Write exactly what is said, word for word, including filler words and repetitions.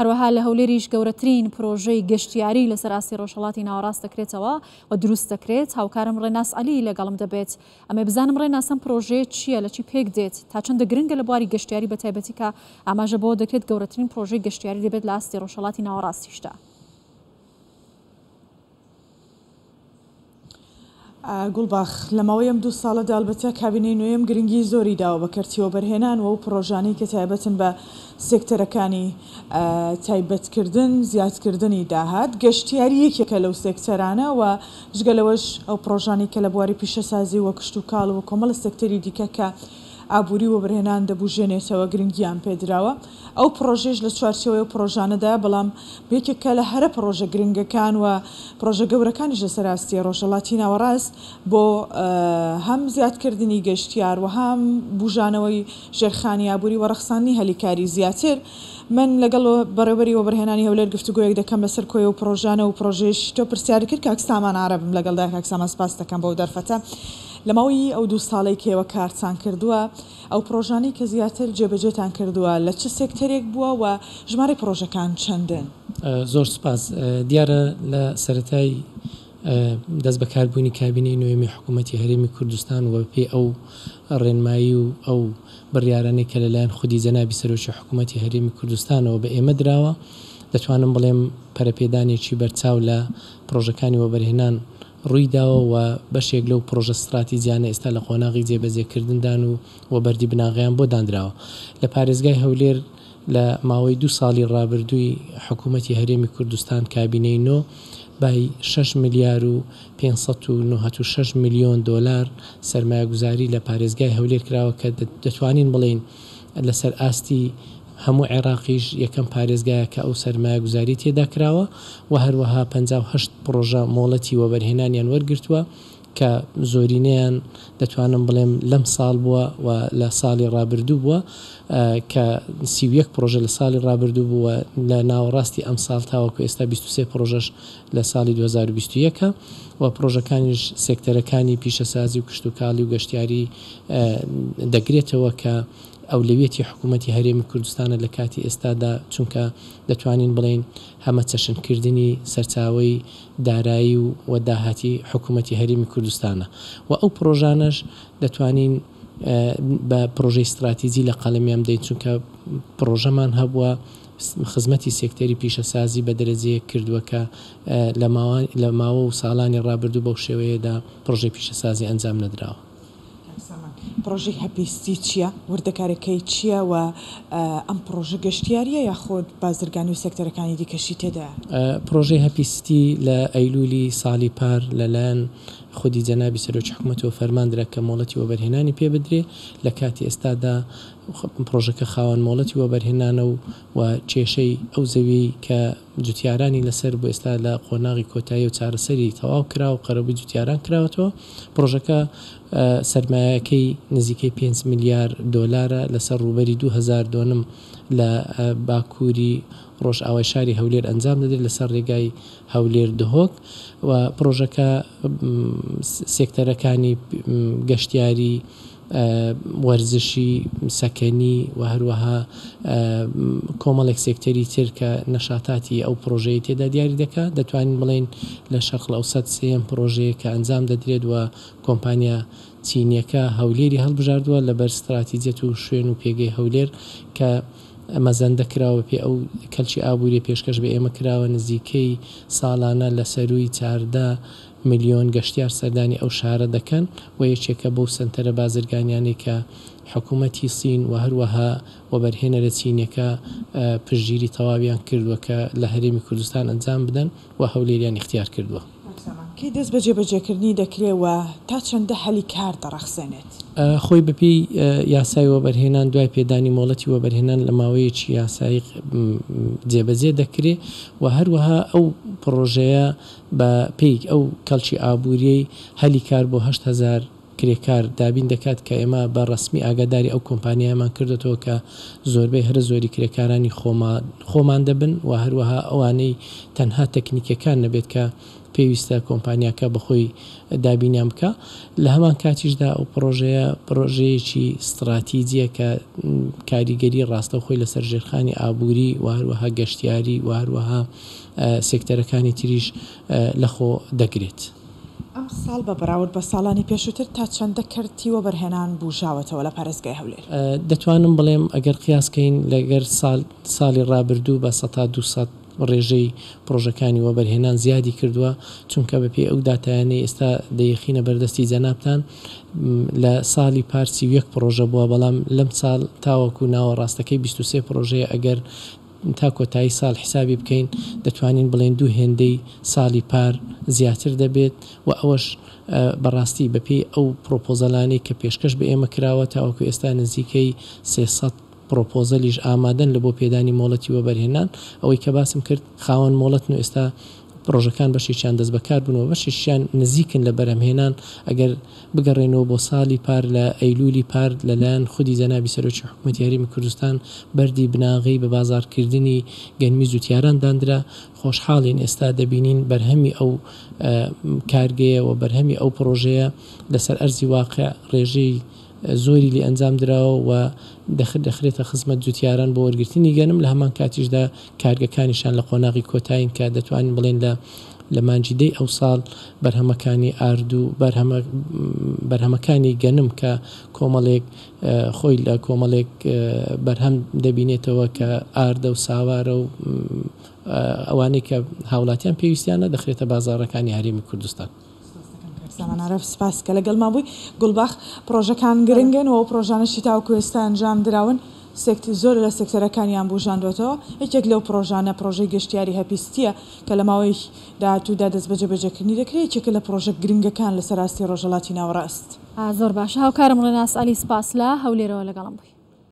هەروەها لە هەولێریش گەورەترین پرۆژەی گەشتیاری لەسەر ئاستی ڕۆژهەڵاتی ناوەڕاست دەکرێتەوە و دروست دەکرێت. هاوکارم ڕێناس عەلی لەگەڵم دەبێت. ئەمێ بزانم ڕێناس ئەم پرۆژەیە چییە، لە چی پێک دێت، تا چەندە گرنگە لە بواری گەشتیاری بە تایبەتی کە ئاماژە بەوە دەکرێت گەورەترین پرۆژەی گەشتیاری دەبێت لە ئاستی ڕۆژهەڵاتی ناوەڕاستیشدا. گوڵباخ لە ماوەی ئەم دوو ساڵەدا ئەلبەتە کابینەی نوێم گرنگی زۆری داوە بە کەرتی وەبەرهێنان و ئەو پرۆژانەی کە تایبەتن بە سێکتەرەکانی تایبەتکردن، زیادکردنی داهات. گەشتیاری یەکێکە لەو سێکتەرانە و جگە لەوەش ئەو پرۆژانەی کە لە بواری پیشەسازی و کشتوکاڵ و کۆمەڵە سێکتەری دیکە کە ئابووری وەبەرهێنان دەبوژێنێتەوە گرنگیان پێدراوە. ئەو پرۆژەیش لە چوارچێوەی ئەو پرۆژانەدا، بەڵام یەکێکە لە هەرە پرۆژە گرنگەکان و پرۆژە گەورەکانیش لەسەر ئاستی ڕۆژهەڵاتی ناوەڕاست بۆ هەم زیادکردنی گەشتیار و هەم بوژانەوەی ژێرخانی ئابووری و ڕەخساندنی هەلیکاری زیاتر. من لەگەڵ بەڕێوەبەری وەبەرهێنانی هەولێر گفتوگۆیەک دەکەم لەسەر کۆی و پرۆژانە و پرۆژەیش تۆ پرسیاری کرد. کاک سامان عەرەبم لەگەڵدا. کاک سامان سپاس دەکەم بەو دەرفەتە. لە ماوەی ئەو دوو ساڵەی کە ئێوە کارتان کردووە، ئەو پرۆژانەی کە زیاتر جێبەجێتان کردووە لە چ سێکتەرێک بووە و ژمارەی پرۆژەکان چەندن؟ زۆر سپاس. دیارە لە سەرەتای دەست بەکاربوونی کابینەی نوێمی حکوومەتی هەرێمی کوردستان و پێی ئەو ڕێنمایی و ئەو بڕیارانەی کە لەلایەن خودی جەنابی سەرۆکی حکوومەتی هەرێمی کوردستانەوە بە ئێمە دراوە، دەتوانم بڵێم پەرەپێدانێکی بەرچاو لە پرۆژەکانی وەبەرهێنان ڕووی داوە و بەشێک لەو پرۆژە استراتیجیانە ئێستا لە قۆناغی جێبەجێکردندان و وەبەردی بناغەیان بۆ دانراوە. لە پارێزگای هەولێر لە ماوەی دوو ساڵی ڕابردووی حکوومەتی هەرێمی کوردستان کابینەی نۆ بای شەش ملیار و پێنج سەد و نەوەد و شەش ملیۆن دۆلار سەرمایەگوزاری لە پارێزگای هەولێر کراوە کە دەتوانین بڵێین لەسەر ئاستی هەموو عێراقیش یەکەم پارێزگایە کە ئەو سەرمایەگوزاری تێدا کراوە و هەروەها پەنجا و هەشت پرۆژە مۆڵەتی وەبەرهێنانیان وەرگرتووە کە زۆرینەیان دەتوانم بڵێم لەم ساڵ بووە و لە ساڵی ڕابردوو بووە کە سی و یەک پرۆژە لە ساڵی ڕابردوو بووە لە ناوەڕاستی ئەم ساڵ تاوەکو ئێستا بیست و سێ پرۆژەش لە ساڵی دوو هەزار و بیست و یەک و پرۆژەکانیش سێکتەرەکانی پیشەسازی و کشتوکاڵی و گەشتیاری دەگرێتەوە کە ئەولەویەتی حکوومەتی هەرێمی کوردستانە لە کاتی ئێستادا، چونکە دەتوانین بڵێین هەمەچەشنکردنی سەرچاوەی دارایی و داهاتی حکوومەتی هەرێمی کوردستانە و ئەو پرۆژانەش دەتوانین بە پرۆژەی استراتیجی لە قەڵەمیان بدەین، چونکە پرۆژەمان هەبووە خزمەتی سێکتەری پیشەسازی بە دەرەجەیەک کردووە کە لە ماوە و ساڵانی ڕابردوو بەو شێوەیەدا پرۆژەی پیشەسازی ئەنجام نەدراوە. پرۆژەی هەپی سیتی چییە؟ وردەکارەکەی چییە و ئەم پرۆژە گەشتیاریە یاخود بازرگانی و سێکتەرەکانی دیکەشی تێدایە؟ پرۆژەی هەپی سیتی لە ئەیلولی ساڵی پار لەلایەن خودی جەنابی سەرۆکی حکوومەتەوە فەرماندرا کە مۆڵەتی وەبەرهێنانی پێ بدرێ. لە کاتی ئێستادا پرۆژەکە خاوەن مۆڵەتی وەبەرهێنانە و کێشەی ئەو زەویەی کە جوتیارانی لەسەر بۆ ئێستا لە قۆناغی کۆتایی و چارەسەری تەواو کرا و قەرەبووی جوتیاران کراوەتەوە. پرۆژەکە سەرمایەکەی نزیکەی پێنج ملیار دۆلارە لەسەر ڕووبەری دوو هەزار دۆنم لە باکووری ڕۆژئاوای شاری هەولێر ئەنجام دەدرێت لەسەر ڕێگای هەولێر دهۆک و پرۆژەکە سێکتەرەکانی گەشتیاری، وەرزشی، سەکەنی و هەروەها کۆمەڵێک سێکتەری تر کە نەشاتاتی ئەو پرۆژەیە تێدا دیاری دەکات. دەتوانین بڵێین لە شەرق ئەوسەت سێیەم پرۆژەیە کە ئەنجام دەدرێت و کۆمپانیا چینیەکە هەولێری هەڵبژاردووە لەبەر استراتیجیەت و شوێن و پێگەی هەولێر کە مەزەندە کراوە پێ ئەو کەلکی ئابووری پێشکەش بە ئێمە کراوە. نزیکەی ساڵانە لە سەروی چاردە ملیۆن گەشتیار سەردانی ئەو شارە دەکەن و یەکێکە بەو سەنتەرە بازرگانیانەی کە حکوومەتی سین و هەروەها وەبەرهێنەرە چینیەکە پشتگیری تەواویان کردووە کە لە هەرێمی کوردستان ئەنجام بدەن و هەولێریان اختیار کردووە. کەی دەست بە جێبەجێکردنی دەکرێت و تا چەندە هەلی کار دەڕەخسێنێت؟ خۆی بەپێی یاسای وەبەرهێنان دوای پێدانی مۆڵەتی وەبەرهێنان لە ماوەیەکی یاسایی جێبەجێ دەکرێت و هەروەها ئەو پرۆژەیە بە پێی ئەو کەڵکی ئابووریەی هەلی کار بۆ هەشت هەزار کرێکار دابین دەکات کە ئێمە بە ڕەسمی ئاگاداری ئەو کۆمپانیایەمان کردێتەوە کە زۆربەی هەرە زۆری کرێکارانی خۆمان دەبن و هەروەها ئەوانەی تەنها تەکنیکەکان نەبێت کە پێویستە کۆمپانیاکە بەخۆی دابینیان بکە. لە هەمان کاتیشدا ئەو پرۆژەیە پرۆژەیەکی استراتیجیە کە کاریگەری ڕاستەوخۆی لەسەر ژێرخانی ئابووری و هەروەها گەشتیاری و هەروەها سێکتەرەکانی تریش لەخۆ دەگرێت. ئەم ساڵ بە بەراورد بە ساڵانی پێشووتر تا چەندە کەرتی وەبەرهێنان بوژاوەتەوە لە پارێزگای هەولێر؟ دەتوانم بڵێم ئەگەر قیاسکەین لەگەر ساڵی ڕابردوو بە سەتا دووسەد ڕێژەی پرۆژەکانی وەبەرهێنان زیادی کردووە، چونکە بەپێی ئەو داتایانەی ئێستا دەیەخینە بەردەستی جەنابتان لە ساڵی پار سی و یەک پرۆژە بووە، بەڵام لەم ساڵ تاوەکو ناوەڕاستەکەی بیست و سێ پرۆژەیە. ئەگەر تا کۆتایی ساڵ حسابی بکەین دەتوانین بڵێن دوو هێندەی ساڵی پار زیاتر دەبێت و ئەوەش بەڕاستی بەپێی ئەو پرۆپۆزەلانەی کە پێشکەش بە ئێمە کراوە تاوەکو ئێستا نزیکەی سێ سەد پرۆپۆزەلیش ئامادەن لە بۆ پێدانی مۆڵەتی وەبەرهێنان. ئەوەی کە باسم کرد خاوەن مۆڵەتن و ئێستا پرۆژەکان بەشێکیان دەست بەکار بوون و بەشێکیان نزیکن لە بەرهەمهێنان. ئەگەر بگەڕێنەوە بۆ ساڵی پار لە ئەیلولی پار لەلایەن خودی جەنابی سەرۆکی حکوومەتی هەرێمی کوردستان بەردی بناغەی بە بازارکردنی گەنمی زوتیاران داندرا. خۆشحاڵین ئێستا دەبینین بەرهەمی ئەو کارگەیە و بەرهەمی ئەو پرۆژەیە لەسەر ئەرزی واقع ڕێژەی زۆری لێ ئەنجام دراوە و دەخرێتە خزمەت جوتیاران بۆ وەرگرتنی گەنم. لە هەمان کاتیشدا کارگەکانیشان لە قۆناغی کۆتایین کە دەتوانین بڵێن لە لە مانگی دەی ئەو ساڵ بەرهەمەکانی ئارد و بەرهەمەکانی گەنم کە کۆمەڵێک خۆی لە کۆمەڵێک بەرهەم دەبینێتەوە کە ئاردە و ساوارە و ئەوانەی کە هاوڵاتیان پێویستیانە دەخرێتە بازاڕەکانی هەرێمی کوردستان. سامان عارف سپاس کە لەگەڵمان بووی. گوڵباخ، پرۆژەکان گرنگن و ئەو پرۆژانەشی تاوەکو ئێستا ئەنجام دراون زۆر لە سێکتەرەکانیان بوژاندوێتەوە. یەکێک لەو پرۆژانە پرۆژەی گەشتیاری هەپیستیە کە لە ماوەی داهاتوودا دەست بە جێبەجێکردنی دەکرێت، یەکێکە لە پرۆژە گرنگەکان لەسەر ئاستی ڕۆژهەڵاتی ناوەڕاست. زۆر باشە. هاوکارم ڕێناس عەلی سپاس لە هەولێرەوە لەگەڵم بووی.